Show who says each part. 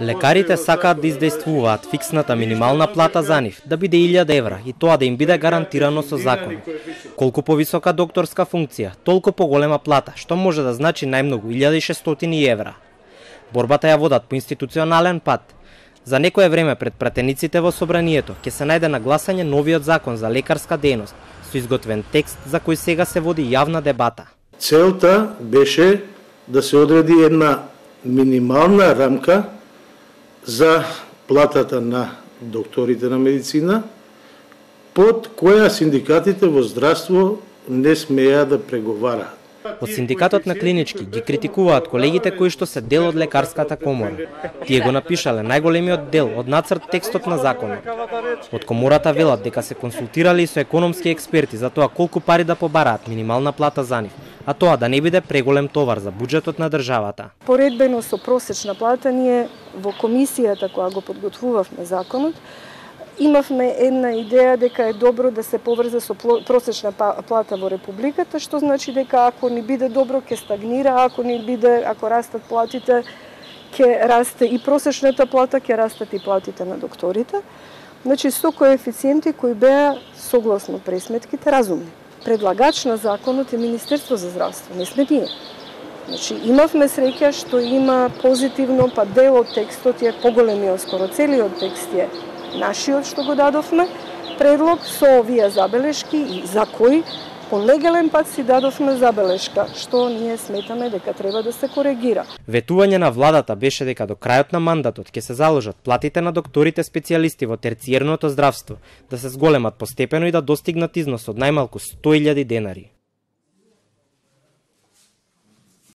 Speaker 1: Лекарите сакаат да издействуваат фиксната минимална плата за нив да биде 1000 евра и тоа да им биде гарантирано со закон. Колку повисока докторска функција, толку поголема плата, што може да значи најмногу 1600 евра. Борбата ја водат по институционален пат. За некое време пред пратениците во собранието ќе се најде на гласање новиот закон за лекарска дејност со изготвен текст за кој сега се води јавна дебата.
Speaker 2: Целта беше да се одреди една минимална рамка за платата на докторите на медицина, под која синдикатите во здравство не смеа да преговараат.
Speaker 1: Од синдикатот на клинички ги критикуваат колегите кои што се дел од лекарската комора. Тие го напишале најголемиот дел од нацрт текстот на законот. Од комората велат дека се консултирали и со економски експерти за тоа колку пари да побараат минимална плата за нив, а тоа да не биде преголем товар за буџетот на државата.
Speaker 3: Поредбено со просечна плата, ние во комисијата која го подготвувавме законот, имавме една идеја дека е добро да се поврзе со просечна плата во Републиката, што значи дека ако ни биде добро ќе стагнира, ако растат платите, ќе расте и просечната плата, ќе растат и платите на докторите. Значи со коефициенти кои беа согласно пресметките разумни. Предлагач на законот е Министерство за здравство, не сме ние. Значи имавме среќа што има позитивно, па дел од текстот е поголемиот, скоро целиот текст е нашиот што го дадовме, предлог со овие забелешки и за кои по легален пат си дадовме забелешка, што ние сметаме дека треба да се коригира.
Speaker 1: Ветување на владата беше дека до крајот на мандатот ќе се заложат платите на докторите специјалисти во терциерното здравство да се зголемат постепено и да достигнат износ од најмалку 100.000 денари.